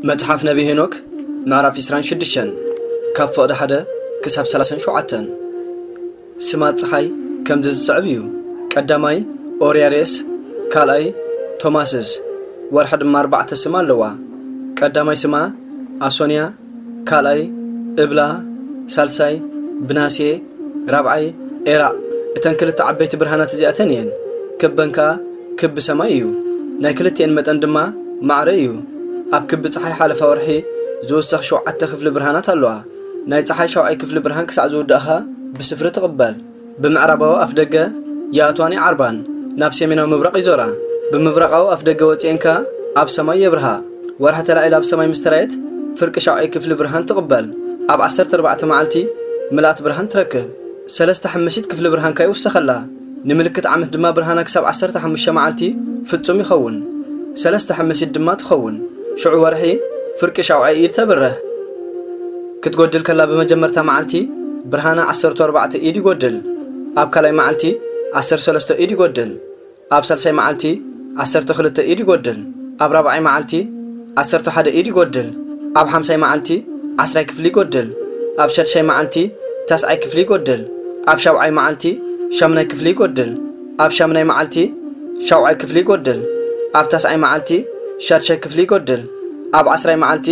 መጽሓፍ ነቢ ሄኖክ ምዕራፍ ዕስራን ሽዱሽተን ካብ ፍቕዲ ሓደ ክሳብ ሰላሳን ሸውዓተን። ስማት ጸሓይ ከምዚ ዝስዕብ እዩ። ቀዳማይ ኦርያሬስ፣ ካልኣይ ቶማስስ። ወርሒ ድማ ኣርባዕተ ስም ኣለዋ። ቀዳማይ ስማ ኣሶንያ፣ ካልኣይ እብላ፣ ሳልሳይ ብናሴ፣ ራብዓይ ኤራእ። እተን ክልተ ዓበይቲ ብርሃናት እዚኣተን እየን። ክበን ከኣ ክቢ ሰማይ እዩ። ናይ ክልቲኤን መጠን ድማ ማዕረ እዩ። ኣብ ክቢ ጸሓይ ሓለፋ ወርሒ ዝውሰኽ ሸውዓተ ክፍሊ ብርሃናት ኣለዋ። ናይ ጸሓይ ሻውዓይ ክፍሊ ብርሃን ክሳዕ ዝውዳእኻ ብስፍሪ ትቕበል። ብምዕራባዊ ኣፍደገ የኣትዋን ይዓርባን፣ ናብ ሰሜናዊ ምብራቕ ይዞራ። ብምብራቓዊ ኣፍደገ ወጺኤን ከኣ ኣብ ሰማይ የብርሃ። ወርሒ ተላዒላ ኣብ ሰማይ ምስ ተራእየት፣ ፍርቂ ሻውዓይ ክፍሊ ብርሃን ትቕበል። ኣብ ዓሰርተ ኣርባዕተ መዓልቲ ምልኣት ብርሃን ትረክብ። ሰለስተ ሓምሲት ክፍሊ ብርሃን ከኣ ይውሰኸላ። ንምልክት ዓመት ድማ ብርሃና ክሳብ ዓሰርተ ሓሙሽተ መዓልቲ ፍጹም ይኸውን። ሰለስተ ሓምሲት ድማ ትኸውን። ሽዑ ወርሒ ፍርቂ ሻውዓይ ኢድ ተብርህ። ክትጎድል ከላ ብመጀመርታ መዓልቲ ብርሃና ዓሰርተ ኣርባዕተ ኢድ ይጎድል። ኣብ ካልኣይ መዓልቲ ዓሰርተ ሰለስተ ኢድ ይጎድል። ኣብ ሳልሳይ መዓልቲ ዓሰርተ ክልተ ኢድ ይጎድል። ኣብ ራብዓይ መዓልቲ ዓሰርተ ሓደ ኢድ ይጎድል። ኣብ ሓምሳይ መዓልቲ ዓስራይ ክፍሊ ይጎድል። ኣብ ሸድሻይ መዓልቲ ታስዓይ ክፍሊ ይጎድል። ኣብ ሻብዓይ መዓልቲ ሻምናይ ክፍሊ ይጎድል። ኣብ ሻምናይ መዓልቲ ሻውዓይ ክፍሊ ይጎድል። ኣብ ታስዓይ መዓልቲ ሻድሻይ ክፍሊ ይጎድል። ኣብ ዓስራይ መዓልቲ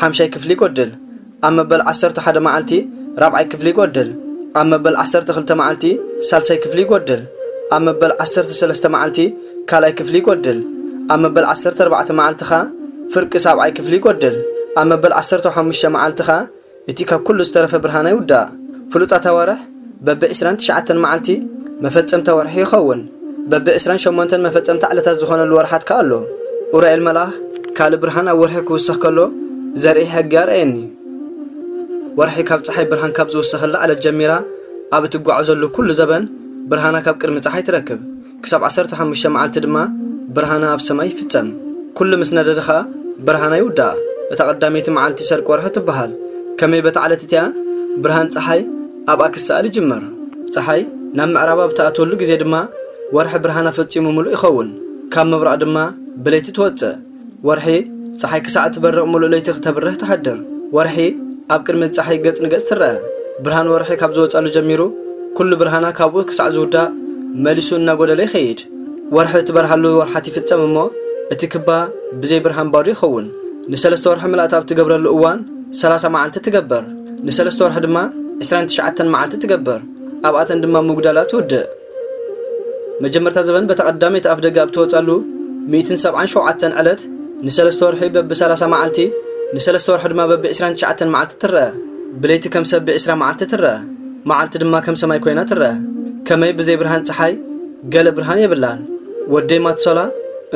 ሓምሻይ ክፍሊ ይጎድል። ኣብ መበል ዓሰርተ ሓደ መዓልቲ ራብዓይ ክፍሊ ይጎድል። ኣብ መበል ዓሰርተ ክልተ መዓልቲ ሳልሳይ ክፍሊ ይጎድል። ኣብ መበል ዓሰርተ ሰለስተ መዓልቲ ካልኣይ ክፍሊ ይጎድል። ኣብ መበል ዓሰርተ ኣርባዕተ መዓልቲ ኸኣ ፍርቂ ሳብዓይ ክፍሊ ይጎድል። ኣብ መበል ዓሰርተ ሓሙሽተ መዓልቲ ኸኣ እቲ ካብ ኩሉ ዝተረፈ ብርሃና ይውዳእ። ፍሉጣት ኣዋርሕ በብዕስራን ትሽዓተን መዓልቲ መፈጸምታ ወርሒ ይኸውን። በብዕስራን ሸሞንተን መፈጸምታ ዕለታት ዝኾነሉ ወርሓት ከኣ ኣሎ። ኡራኤል መልኣኽ ካልእ ብርሃን ኣብ ወርሒ ክውሰኽ ከሎ ዘርኢ ሕጊ ኣርኣየኒ። ወርሒ ካብ ጸሓይ ብርሃን ካብ ዝውሰኸላ ዕለት ጀሚራ ኣብ እትጓዓዘሉ ኩሉ ዘበን ብርሃና ካብ ቅድሚ ጸሓይ ትረክብ። ክሳብ ዓሰርተ ሓሙሽተ መዓልቲ ድማ ብርሃና ኣብ ሰማይ ይፍጸም። ኩሉ ምስ ነደደ ኸኣ ብርሃና ይውዳእ። እታ ቀዳመይቲ መዓልቲ ሰርቂ ወርሒ ትበሃል። ከመይ በታ ዕለት እቲኣ ብርሃን ጸሓይ ኣብኣ ክሰኣል ይጅምር። ጸሓይ ናብ ምዕራብ ኣብ ትኣትወሉ ግዜ ድማ ወርሒ ብርሃና ፈጺሙ ምሉእ ይኸውን። ካብ ምብራቕ ድማ ብለይቲ ትወጽእ። ወርሒ ጸሓይ ክሳዕ እትበርቕ ምሉእ ለይቲ ክተብርህ ትሓድር። ወርሒ ኣብ ቅድሚ ጸሓይ ገጽ ንገጽ ትረአ። ብርሃን ወርሒ ካብ ዝወጸሉ ጀሚሩ ኩሉ ብርሃና ካብኡ ክሳዕ ዝውዳእ መሊሱ እናጎደለ ይኸይድ። ወርሒ እትበርሃሉ ወርሓት ይፍጸም እሞ እቲ ክባ ብዘይ ብርሃን ባዶ ይኸውን። ንሰለስተ ወርሒ ምልኣት ኣብ ትገብረሉ እዋን ሰላሳ መዓልቲ ትገብር። ንሰለስተ ወርሒ ድማ ዕስራን ትሽዓተን መዓልቲ ትገብር። ኣብኣተን ድማ ምጉዳላ ትውድእ። መጀመርታ ዘበን በታ ቀዳመይቲ ኣፍደገ ኣብ ትወጻሉ ሚእትን ሰብዓን ሸውዓተን ዕለት ንሰለስተ ወርሒ በብሰላሳ መዓልቲ፣ ንሰለስተ ወርሒ ድማ በብዕስራን ትሽዓተን መዓልቲ ትረአ። ብለይቲ ከም ሰብ ብዕስራ መዓልቲ ትረአ፣ መዓልቲ ድማ ከም ሰማይ ኮይና ትረአ። ከመይ ብዘይ ብርሃን ጸሓይ ገለ ብርሃን የብላን። ወደይ ማትሶላ፣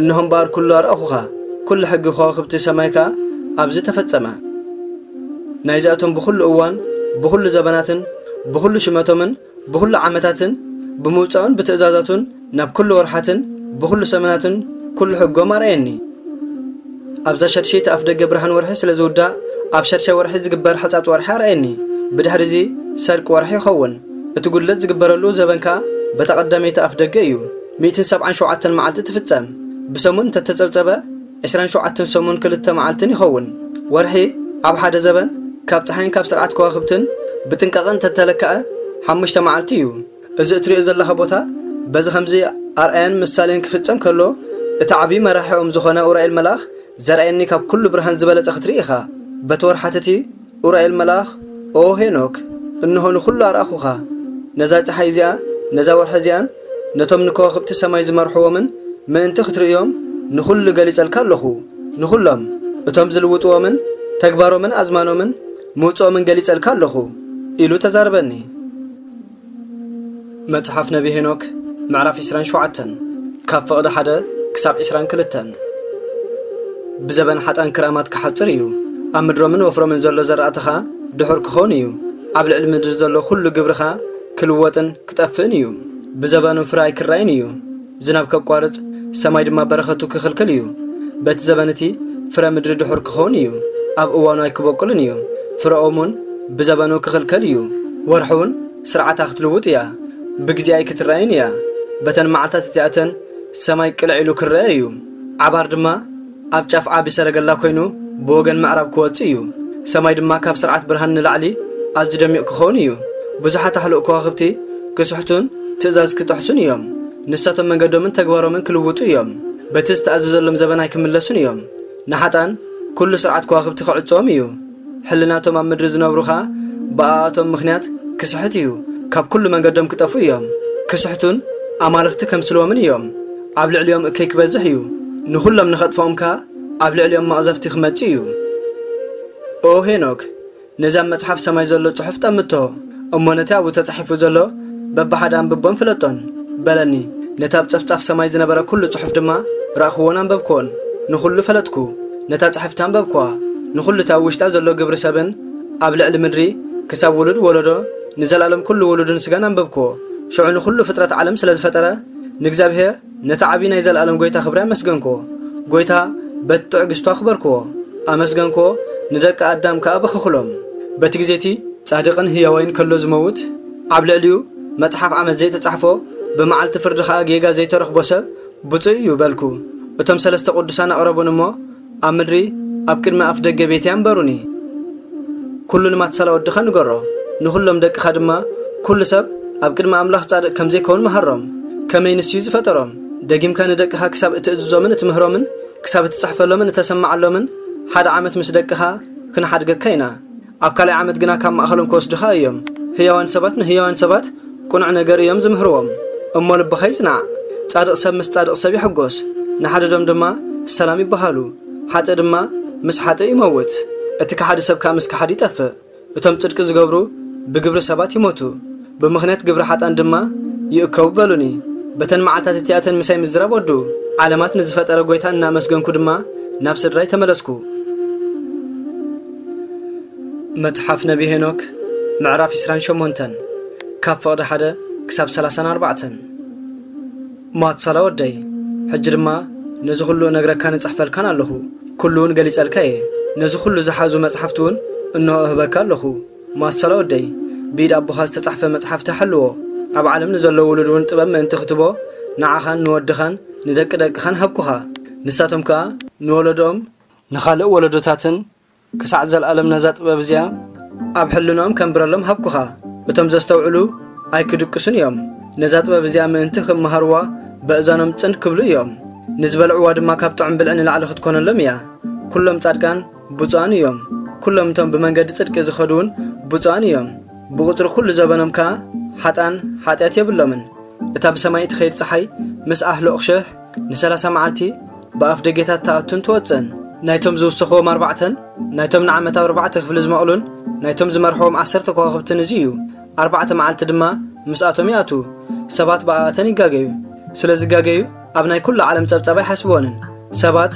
እንሆ እምበኣር ኩሉ ኣርኣኹኻ፣ ኩሉ ሕጊ ከዋኽብቲ ሰማይ ከኣ ኣብዚ ተፈጸመ። ናይዚኣቶም ብኹሉ እዋን፣ ብኹሉ ዘበናትን ብኹሉ ሽመቶምን ብኹሉ ዓመታትን ብምውጻኡን ብትእዛዛቱን ናብ ኩሉ ወርሓትን ብኹሉ ሰመናትን ኩሉ ሕጎም ኣርኣየኒ። ኣብዛ ሸድሸይቲ ኣፍ ደገ ብርሃን ወርሒ ስለ ዝውዳእ፣ ኣብ ሸድሻይ ወርሒ ዝግበር ሕጻጽ ወርሒ ኣርኣየኒ። ብድሕሪ እዚ ሰርቂ ወርሒ ይኸውን። እቲ ጉድለት ዝግበረሉ ዘበን ከኣ በታ ቀዳመይቲ ኣፍ ደገ እዩ። ሚእትን ሰብዓን ሸውዓተን መዓልቲ ትፍጸም። ብሰሙን እንተተጸብጸበ፣ ዕስራን ሸውዓተን ሰሙን ክልተ መዓልትን ይኸውን። ወርሒ ኣብ ሓደ ዘበን ካብ ጸሓይን ካብ ስርዓት ከዋኽብትን ብጥንቃቐ እንተተለክዐ ሓሙሽተ መዓልቲ እዩ። እዚ እትሪኦ ዘለኻ ቦታ በዚ ከምዚ ኣርኣያን ምሳሌን ክፍጸም ከሎ፣ እቲ ዓብዪ መራሒኦም ዝኾነ ኡራኤል መልኣኽ ዘርኣየኒ ካብ ኩሉ ብርሃን ዝበለጸ ክትርኢ ኢኻ። በቲ ወርሓት እቲ ኡራኤል መልኣኽ፣ "ኦ ሄኖክ፣ እንሆ ንኹሉ ኣርኣኹኻ። ነዛ ጸሓይ እዚኣ፣ ነዛ ወርሒ እዚኣን፣ ነቶም ንከዋኽብቲ ሰማይ ዝመርሕዎምን ምእንቲ ክትርእዮም ንኹሉ ገሊጸልካ ኣለኹ። ንኹሎም እቶም ዝልውጥዎምን ተግባሮምን ኣዝማኖምን ምውጽኦምን ገሊጸልካ ኣለኹ" ኢሉ ተዛረበኒ። መጽሓፍ ነቢ ሄኖክ ምዕራፍ ዕስራን ሸውዓተን ካብ ፍቕዲ ሓደ ክሳብ ዕስራን ክልተን። ብዘበን ሓጣን ክራማት ክሓጽር እዩ። ኣብ ምድሮምን ወፍሮምን ዘሎ ዘራእትኻ ድሑር ክኸውን እዩ። ኣብ ልዕሊ ምድሪ ዘሎ ኩሉ ግብርኻ ክልወጥን ክጠፍእን እዩ። ብዘበኑ ፍረ ኣይክራይን እዩ። ዝናብ ከቋርጽ፣ ሰማይ ድማ በረኸቱ ክኽልክል እዩ። በቲ ዘበን እቲ ፍረ ምድሪ ድሑር ክኸውን እዩ። ኣብ እዋኑ ኣይክበቁልን እዩ። ፍረኦም እውን ብዘበኑ ክኽልከል እዩ። ወርሒ እውን ስርዓታ ክትልውጥ እያ። ብግዜ ኣይክትራይን እያ። በተን መዓልታት እቲኣተን ሰማይ ቅልዕ ኢሉ ክረአ እዩ። ዓባር ድማ ኣብ ጫፍ ዓቢ ሰረገላ ኮይኑ ብወገን ምዕራብ ክወጽእ እዩ። ሰማይ ድማ ካብ ስርዓት ብርሃን ንላዕሊ ኣዝዩ ደሚቕ ክኸውን እዩ። ብዙሓት ኣሕሉቕ ከዋኽብቲ ክስሕቱን ትእዛዝ ክጥሕሱን እዮም። ንሳቶም መንገዶምን ተግባሮምን ክልውጡ እዮም። በቲ ዝተኣዘዘሎም ዘበን ኣይክምለሱን እዮም። ንሓጣን ኩሉ ስርዓት ከዋኽብቲ ክዕጽዎም እዩ። ሕልናቶም ኣብ ምድሪ ዝነብሩ ኸኣ ብኣኣቶም ምኽንያት ክስሕት እዩ። ካብ ኩሉ መንገዶም ክጠፍኡ እዮም። ክስሕቱን ኣማልኽቲ ከምስልዎምን እዮም። ኣብ ልዕሊኦም እከይ ክበዝሕ እዩ። ንኹሎም ንኸጥፍኦም ከኣ ኣብ ልዕሊኦም መቕዘፍቲ ክመጽእ እዩ። ኦ ሄኖክ፣ ነዚ ኣብ መጽሓፍ ሰማይ ዘሎ ጽሑፍ ጠምቶ፣ እሞ ነቲ ኣብኡ ተጻሒፉ ዘሎ በብሓደ ኣንብቦን ፍለጦን፣ በለኒ። ነቲ ኣብ ጸፍጻፍ ሰማይ ዝነበረ ኩሉ ጽሑፍ ድማ ረኣኽዎን ኣንበብክዎን። ንኹሉ ፈለጥኩ። ነታ ጽሕፍቲ ኣንበብክዋ። ንኹሉ እቲ ኣብ ውሽጣ ዘሎ ግብሪ ሰብን ኣብ ልዕሊ ምድሪ ክሳብ ውሉድ ወለዶ ንዘለኣለም ኩሉ ውሉድን ስጋን ኣንበብክዎ። ሽዑ ንኹሉ ፍጥረት ዓለም ስለ ዝፈጠረ ንእግዚኣብሔር ነቲ ዓቢ ናይ ዘለኣለም ጐይታ ክብሪ ኣመስገንክዎ። ጐይታ በቲ ትዕግስቱ ኣኽበርክዎ። ኣመስገንክዎ፣ ንደቂ ኣዳም ከኣ በኸኽሎም። በቲ ግዜ እቲ ጻድቕን ህያዋይን ከሎ ዝመውት፣ ኣብ ልዕሊኡ መጽሓፍ ዓመት ዘይተጻሕፎ፣ ብመዓልቲ ፍርዲ ኸኣ ጌጋ ዘይተረኽቦ ሰብ ብጹእ እዩ በልኩ። እቶም ሰለስተ ቅዱሳን ኣቕረቡኒ እሞ ኣብ ምድሪ ኣብ ቅድሚ ኣፍ ደገ ቤተይ ኣንበሩኒ። ኩሉ ንማትሳላ ወድኻ ንገሮ፣ ንኹሎም ደቅኻ ድማ፣ ኩሉ ሰብ ኣብ ቅድሚ ኣምላኽ ጻድቕ ከም ዘይከውን መሃሮም። ከመይ ንሱ እዩ ዝፈጠሮም? ደጊምካ ንደቅኻ ክሳብ እትእዝዞምን እትምህሮምን፣ ክሳብ እትጽሕፈሎምን እተሰምዓሎምን፣ ሓደ ዓመት ምስ ደቅኻ ክንሓድገካ ኢና። ኣብ ካልኣይ ዓመት ግና ካብ ማእከሎም ክወስዱኻ እዮም። ህያዋን ሰባት ንህያዋን ሰባት ቅኑዕ ነገር እዮም ዝምህርዎም። እሞ ልብኻ ይጽናዕ። ጻድቕ ሰብ ምስ ጻድቕ ሰብ ይሕጎስ፣ ንሓደዶም ድማ ሰላም ይበሃሉ። ሓጥእ ድማ ምስ ሓጥእ ይመውት። እቲ ከሓዲ ሰብ ከኣ ምስ ከሓዲ ይጠፍእ። እቶም ጽድቂ ዝገብሩ ብግብሪ ሰባት ይሞቱ፣ ብምኽንያት ግብሪ ሓጣን ድማ ይእከቡ በሉኒ። በተን መዓልታት እቲኣተን ምሳይ ምዝራብ ወዱ። ዓለማት ንዝፈጠረ ጐይታ እናመስገንኩ ድማ ናብ ስድራይ ተመለስኩ። መጽሓፍ ነቢ ሄኖክ ምዕራፍ ዕስራን ሸሞንተን፣ ካብ ፍቕዲ ሓደ ክሳብ ሰላሳን ኣርባዕተን። ማትሳላ ወደይ፣ ሕጂ ድማ ነዚ ኹሉ እነግረካን እጽሕፈልካን ኣለኹ። ኩሉ እውን ገሊጸልካ እየ። ነዚ ኹሉ ዝሓዙ መጽሓፍቲ እውን እንሆ እህበካ ኣለኹ። ማትሳላ ወደይ፣ ብኢድ ኣቦኻ ዝተጻሕፈ መጽሓፍቲ ሓልዎ። ኣብ ዓለም ንዘሎ ውሉድ እውን ጥበብ ምእንቲ ክትቦ ንዓኻን ንወድኻን ንደቂ ደቅኻን ሃብኩኻ። ንሳቶም ከኣ ንወለዶኦም ንኻልእ ወለዶታትን ክሳዕ ዘለኣለም ነዛ ጥበብ እዚኣ ኣብ ሕልንኦም ከንብረሎም ሃብኩኻ። እቶም ዘስተውዕሉ ኣይክድቅሱን እዮም። ነዛ ጥበብ እዚኣ ምእንቲ ክመሃርዋ በእዛኖም ጽን ክብሉ እዮም። ንዝበልዕዋ ድማ ካብ ጥዑም ብልዒ ንላዕሊ ክትኮነሎም እያ። ኩሎም ጻድቃን ብፁዓን እዮም። ኩሎም እቶም ብመንገዲ ጽድቂ ዝኸዱ እውን ብፁዓን እዮም። ብቑጽሪ ኩሉ ዘበኖም ከኣ ሓጣን ሓጢኣት የብሎምን። እታ ብሰማይ እትኸይድ ጸሓይ ምስ ኣህሎ ቕሸሕ ንሰላሳ መዓልቲ ብኣፍ ደጌታት ትኣቱን ትወጽእን። ናይቶም ዝውሰኽዎም ኣርባዕተን ናይቶም ንዓመት ኣብ ኣርባዕተ ክፍሊ ዝመቕሉን ናይቶም ዝመርሕዎም ዓሰርተ ከዋኽብትን እዚ እዩ። ኣርባዕተ መዓልቲ ድማ ምስኣቶም ይኣትዉ። ሰባት ብኣኣተን ይጋገዩ። ስለ ዝጋገዩ ኣብ ናይ ኩሉ ዓለም ጸብጻብ ኣይሓስብወንን። ሰባት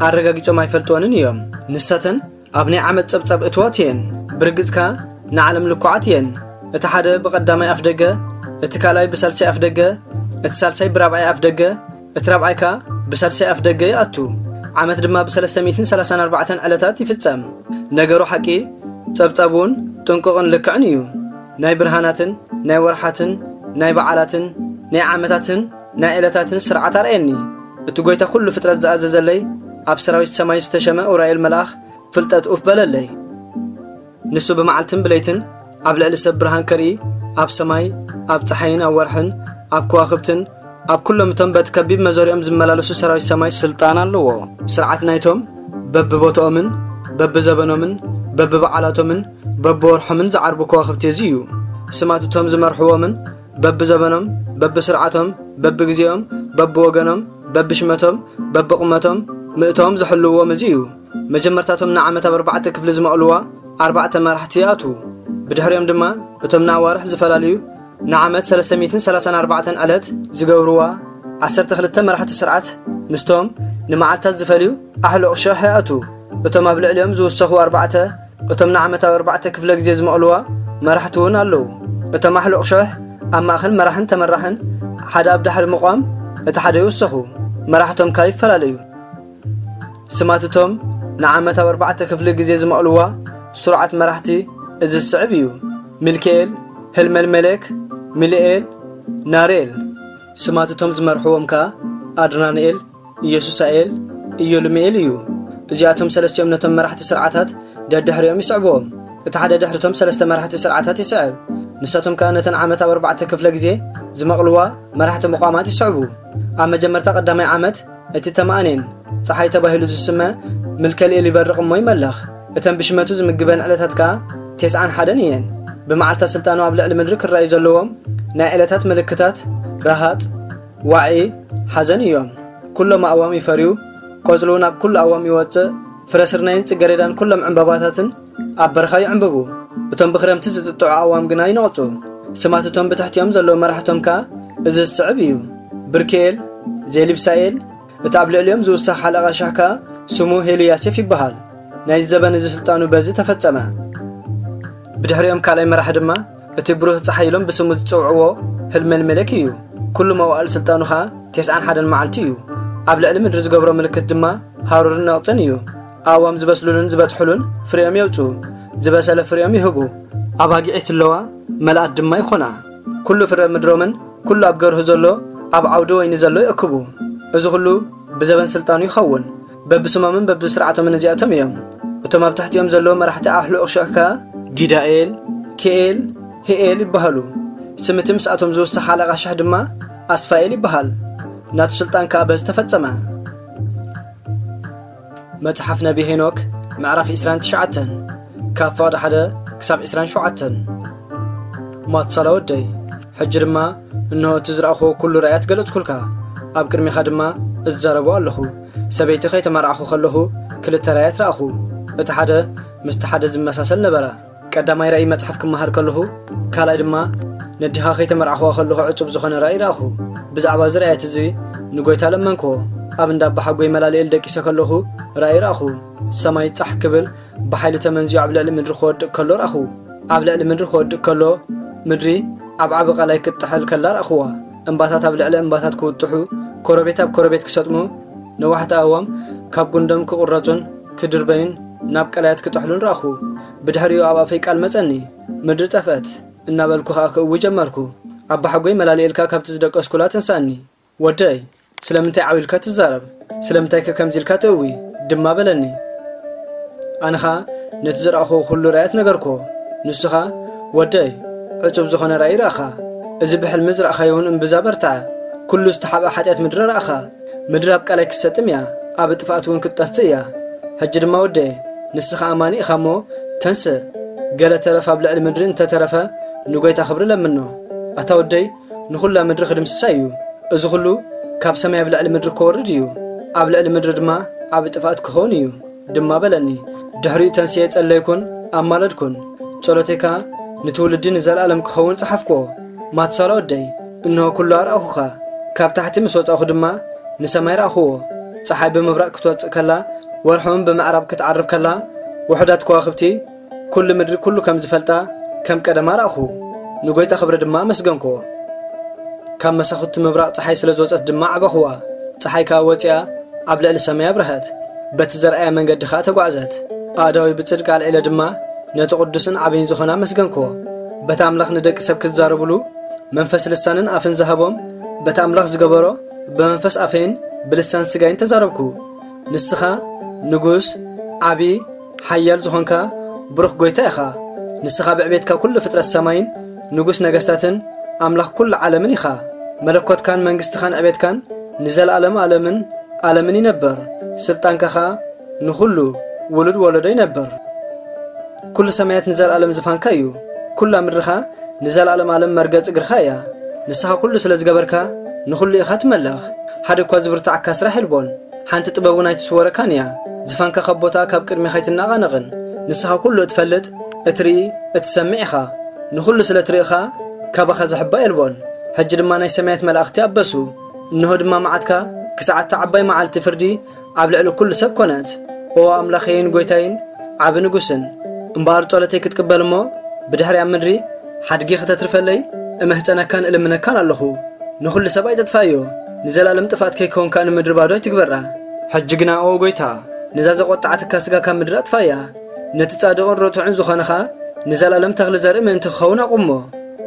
ኣረጋጊጾም ኣይፈልጥወንን እዮም። ንሳተን ኣብ ናይ ዓመት ጸብጻብ እትዋት እየን። ብርግጽካ ንዓለም ልኩዓት እየን። እቲ ሓደ ብቐዳማይ ኣፍ ደገ፣ እቲ ካልኣይ ብሳልሳይ ኣፍ ደገ፣ እቲ ሳልሳይ ብራብዓይ ኣፍ ደገ፣ እቲ ራብዓይ ከኣ ብሳልሳይ ኣፍ ደገ ይኣቱ። ዓመት ድማ ብሰለስተ ሚእትን ሰላሳን ኣርባዕተን ዕለታት ይፍጸም። ነገሩ ሓቂ፣ ጸብጻብ እውን ጥንቁቕን ልክዕን እዩ። ናይ ብርሃናትን ናይ ወርሓትን ናይ በዓላትን ናይ ዓመታትን ናይ ዕለታትን ስርዓት ኣርእየኒ። እቲ ጐይታ ኩሉ ፍጥረት ዝኣዘዘለይ ኣብ ሰራዊት ሰማይ ዝተሸመ ኡራኤል መልኣኽ ፍልጠት ኡፍ በለለይ። ንሱ ብመዓልትን ብለይትን ኣብ ልዕሊ ሰብ ብርሃን ከርኢ፣ ኣብ ሰማይ፣ ኣብ ጸሓይን ኣብ ወርሕን፣ ኣብ ከዋኽብትን፣ ኣብ ኩሎም እቶም በቲ ከቢብ መዞሪኦም ዝመላለሱ ሰራዊት ሰማይ ስልጣን ኣለዎ። ስርዓት ናይቶም በብቦታኦምን በብዘበኖምን በብበዓላቶምን በብወርሖምን ዝዓርቡ ከዋኽብቲ እዚ እዩ። ስማት እቶም ዝመርሕዎምን በብዘበኖም፣ በብስርዓቶም፣ በብግዜኦም፣ በብወገኖም፣ በብሽመቶም፣ በብቑመቶም፣ ምእታዎም ዝሕልውዎም እዚ እዩ። መጀመርታቶም ንዓመት ኣብ ኣርባዕተ ክፍሊ ዝመቕልዋ ኣርባዕተ መራሕቲ ይኣትዉ። ብድሕሪኦም ድማ እቶም ንኣዋርሕ ዝፈላልዩ ንዓመት ሰለስተ ሚእትን ሰላሳን ኣርባዕተን ዕለት ዝገብርዋ ዓሰርተ ክልተ መራሕቲ ስርዓት ምስቶም ንመዓልታት ዝፈልዩ ኣሕሉቕ ሽሕ ይኣትዉ። እቶም ኣብ ልዕሊኦም ዝውሰኹ ኣርባዕተ እቶም ንዓመት ኣብ ኣርባዕተ ክፍለ ግዜ ዝመቕልዋ መራሕቲ እውን ኣለዉ። እቶም ኣሕሉቕ ሽሕ ኣብ ማእከል መራሕን ተመራሕን ሓደ ኣብ ዳሕሪ ምቋም እቲ ሓደ ይውሰኹ። መራሕቶም ከኣ ይፈላለዩ። ስማት እቶም ንዓመት ኣብ ኣርባዕተ ክፍሊ ግዜ ዝመቕልዋ ስሩዓት መራሕቲ እዚ ዝስዕብ እዩ። ሚልክኤል፣ ህልመልመሌክ፣ ሚልኤል፣ ናርኤል። ስማት እቶም ዝመርሕዎም ከኣ ኣድራንኤል፣ ኢየሱሳኤል፣ ኢዮልምኤል እዩ። እዚኣቶም ሰለስቲኦም ነቶም መራሕቲ ስርዓታት ደድሕሪኦም ይስዕብዎም። እቲ ሓደ ድሕሪቶም ሰለስተ መራሕቲ ስርዓታት ይስዕብ። ንሳቶም ከኣ ነተን ዓመት ኣብ ኣርባዕተ ክፍለ ግዜ ዝመቕልዋ መራሕቲ ምቋማት ይስዕቡ። ኣብ መጀመርታ ቀዳማይ ዓመት እቲ ተማእኔን ጸሓይ ተባሂሉ ዝስመ ምልከልኤል ይበርቕ እሞ ይመለኽ። እተን ብሽመቱ ዝምግበን ዕለታት ከኣ ተስዓን ሓደን እየን። ብመዓልታ ስልጣኑ ኣብ ልዕሊ ምድሪ ክረኣዩ ዘለዎም ናይ ዕለታት ምልክታት ረሃጽ፣ ዋዒ፣ ሓዘን እዮም። ኩሎም ኣእዋም ይፈርዩ፣ ቆጽሉ ናብ ኩሉ ኣእዋም ይወጽእ፣ ፍረ ስርናይን ጽገሬዳን ኩሎም ዕምባባታትን ኣብ በረኻ ይዕምብቡ። እቶም ብኽረምቲ ዝጥጥዑ ኣእዋም ግና ይነቕጹ። ስማት እቶም ብትሕቲኦም ዘለዉ መራሕቶም ከኣ እዚ ዝስዕብ እዩ። ብርክኤል፣ ዜሊብሳኤል፣ እቲ ኣብ ልዕሊኦም ዝውሰኽ ሓለቓ ሽሕ ከኣ ስሙ ሄልያሴፍ ይበሃል። ናይዚ ዘበን እዚ ስልጣኑ በዚ ተፈጸመ። ብድሕሪኦም ካልኣይ መራሒ ድማ እቲ ብሩህ ጸሓይ ኢሎም ብስሙ ዝጽውዕዎ ህልመልሜሌክ እዩ። ኩሉ መዋእል ስልጣኑ ኸኣ ተስዓን ሓደን መዓልቲ እዩ። ኣብ ልዕሊ ምድሪ ዝገብሮ ምልክት ድማ ሃሩርን ነቕጽን እዩ። ኣእዋም ዝበስሉሉን ዝበጽሑሉን ፍሬኦም የውጽኡ፣ ዝበሰለ ፍሬኦም ይህቡ። ኣባጊዕ ይትለዋ፣ መልኣት ድማ ይኾና። ኩሉ ፍረ ምድሮምን ኩሉ ኣብ ገርሁ ዘሎ ኣብ ዓውዲ ወይኒ ዘሎ ይእክቡ። እዚ ኹሉ ብዘበን ስልጣኑ ይኸውን። በብስሞምን በብስርዓቶምን እዚኣቶም እዮም። እቶም ኣብ ትሕቲኦም ዘለዉ መራሕቲ ኣሕሉቕ ሽሕ ከኣ ጊዳኤል፣ ኪኤል፣ ሂኤል ይበሃሉ። ስም እቲ ምስኣቶም ዝውስኽ ሓለቓ ሽሕ ድማ ኣስፋኤል ይበሃል። ናቱ ስልጣን ከኣ በዚ ተፈጸመ። መጽሓፍ ነቢ ሄኖክ ምዕራፍ ዕስራን ትሽዓተን፣ ካብ ፍቕዲ ሓደ ክሳብ ዕስራን ሸውዓተን። ማትሳላ ወደይ፣ ሕጂ ድማ እንሆ እቲ ዝረኣኹዎ ኩሉ ራእያት ገለጽኩልካ። ኣብ ቅድሜኻ ድማ እዛረቦ ኣለኹ። ሰበይቲ ከይተመርዓኹ ከለኹ ክልተ ራእያት ረኣኹ። እቲ ሓደ ምስቲ ሓደ ዝመሳሰል ነበረ። ቀዳማይ ራእይ መጽሓፍ ክመሃር ከለኹ፣ ካልኣይ ድማ ነዲኻ ከይተመርዓኹዋ ከለኹ ዕጹብ ዝኾነ ራእይ ረኣኹ። ብዛዕባ እዚ ራእያት እዚ ንጎይታ ለመንክዎ። ኣብ እንዳ ኣባሓጎይ መላልኤል ደቂሰ ከለኹ ራእይ ረኣኹ። ሰማይ ጻሕ ክብል ብሓይሊ ተመንዚዑ ኣብ ልዕሊ ምድሪ ክወድቕ ከሎ ረኣኹ። ኣብ ልዕሊ ምድሪ ክወድቕ ከሎ ምድሪ ኣብ ዓቢ ቀላይ ክትጥሕል ከላ ረኣኹዋ። እምባታት ኣብ ልዕሊ እምባታት ክውጥሑ፣ ኮረቤት ኣብ ኮረቤት ክሰጥሙ፣ ነዋሕቲ ኣእዋም ካብ ጉንዶም ክቑረጹን ክድርበዩን ናብ ቀላያት ክጥሕሉን ረኣኹ። ብድሕሪኡ ኣብ ኣፈይ ቃል መጸኒ፣ ምድሪ ጠፍአት እናበልኩ ኸኣ ክእዊ ጀመርኩ። ኣባሓጎይ መላልኤልካ ካብቲ ዝደቀስኩላ ተንሳእኒ። ወደይ፣ ስለምንታይ ዓው ኢልካ ትዛረብ? ስለምንታይከ ከምዚ ኢልካ ትእዊ? ድማ በለኒ። ኣነ ኸኣ ነቲ ዝረኣኹዎ ኩሉ ራእያት ነገርኩዎ። ንሱ ኸኣ፣ ወደይ፣ ዕጹብ ዝኾነ ራእይ ረኣኻ። እዚ ብሕልሚ ዝረኣኻዮ እውን እምብዛ በርትዐ። ኩሉ ዝተሓብአ ሓጢኣት ምድሪ ረኣኻ። ምድሪ ኣብ ቀላይ ክትሰጥም እያ፣ ኣብ ጥፍኣት እውን ክትጠፍእ እያ። ሕጂ ድማ ወደየ፣ ንስኻ ኣማኒ ኢኻ እሞ ተንስእ፣ ገለ ተረፍ ኣብ ልዕሊ ምድሪ እንተተረፈ ንጎይታ ክብሪ ለምኖ። ኣታ ወደይ፣ ንኹላ ምድሪ ክድምስሳ እዩ። እዚ ኹሉ ካብ ሰማይ ኣብ ልዕሊ ምድሪ ክወርድ እዩ፣ ኣብ ልዕሊ ምድሪ ድማ ዓቢ ጥፍኣት ክኸውን እዩ ድማ በለኒ። ድሕሪኡ ተንስኤ ጸለይኩን ኣማለድኩን። ጸሎተይ ከኣ ንትውልዲ ንዘለኣለም ክኸውን ጸሓፍኩዎ። ማትሳላ ወደይ፣ እንሆ ኩሉ ኣርኣኹኻ። ካብ ታሕቲ ምስ ወጻእኹ ድማ ንሰማይ ረኣኹዎ። ጸሓይ ብምብራቕ ክትወጽእ ከላ፣ ወርሒ እውን ብምዕራብ ክትዓርብ ከላ፣ ውሑዳት ከዋኽብቲ ኩሉ ምድሪ ኩሉ ከም ዝፈልጣ ከም ቀደማ ረኣኹ። ንጎይታ ክብሪ ድማ ኣመስገንኩዎ። ካብ መሳኹቲ ምብራቕ ጸሓይ ስለ ዝወጸት ድማ ዓበኹዋ። ጸሓይ ከኣ ወጺኣ ኣብ ልዕሊ ሰማይ ኣብረሀት። በቲ ዘርኣያ መንገዲ ኸኣ ተጓዕዘት። ኣእዳወይ ብጽድቂ ኣልዒለ ድማ ነቲ ቅዱስን ዓብይን ዝኾነ ኣመስገንክዎ። በቲ ኣምላኽ ንደቂ ሰብ ክዛረብሉ መንፈስ ልሳንን ኣፍን ዝሃቦም፣ በቲ ኣምላኽ ዝገበሮ ብመንፈስ ኣፈይን ብልሳን ስጋይን ተዛረብኩ። ንስኻ ንጉስ፣ ዓቢ፣ ሓያል ዝኾንካ ብሩኽ ጎይታ ኢኻ። ንስኻ ብዕቤትካ ኩሉ ፍጥረት ሰማይን ንጉስ ነገስታትን ኣምላኽ ኩሉ ዓለምን ኢኻ። መለኮትካን መንግስትኻን ዕቤትካን ንዘለኣለም ኣለምን ኣለምን ይነብር። ስልጣንካ ኸኣ ንኹሉ ውሉድ ወለዶ ይነብር። ኩሉ ሰማያት ንዘለኣለም ዝፋንካ እዩ። ኩላ ምድርኻ ንዘለኣለም ኣለም መርገጽ እግርኻ እያ። ንስኻ ኩሉ ስለ ዝገበርካ ንኹሉ ኢኻ ትመልኽ። ሓደ እኳ ዝብርትዓካ ስራሕ የልቦን። ሓንቲ ጥበብ እውን ኣይትስወረካን እያ። ዝፋንካ ካብ ቦታኣ ካብ ቅድሜኻ ኣይትነቓነቕን። ንስኻ ኩሉ እትፈልጥ፣ እትርኢ፣ እትሰምዕ ኢኻ። ንኹሉ ስለ እትርኢ ኸኣ ካባኻ ዝሕባእ የልቦን። ሕጂ ድማ ናይ ሰማያት መላእኽቲ ኣበሱ። እንሆ ድማ መዓትካ ክሳዕ እታ ዓባይ መዓልቲ ፍርዲ ኣብ ልዕሊ ኩሉ ሰብ ኮነት። ኦ ኣምላኸይን ጐይታይን ዓቢ ንጉስን፣ እምበኣር ጸሎተይ ክትቅበል እሞ ብድሕሪ ኣብ ምድሪ ሓድጊ ክተትርፈለይ እምሕጸነካን እልምነካን ኣለኹ። ንኹሉ ሰብ ኣይተጥፋእዮ፣ ንዘለኣለም ጥፍኣት ከይከውን ከኣ ንምድሪ ባዶ ኣይትግበራ። ሕጂ ግና ኦ ጐይታ፣ ነዛ ዘቖጠዓትካ ስጋ ካብ ምድሪ ኣጥፋእያ። ነቲ ጻድቕን ርቱዕን ዝኾነ ኸኣ ንዘለኣለም ተኽሊ ዘርኢ ምእንቲ ክኸውን ኣቑሞ።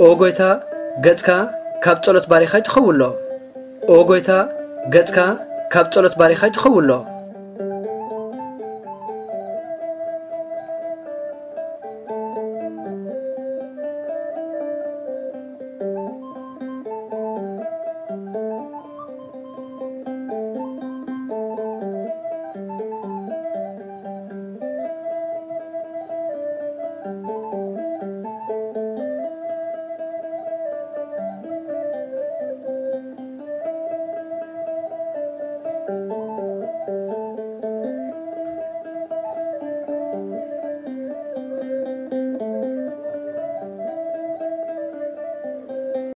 ኦ ጐይታ፣ ገጽካ ካብ ጸሎት ባሪኻ ኣይትኸውሎ። ኦ ጐይታ፣ ገጽካ ካብ ጸሎት ባሪኻ ኣይትኸውሎ።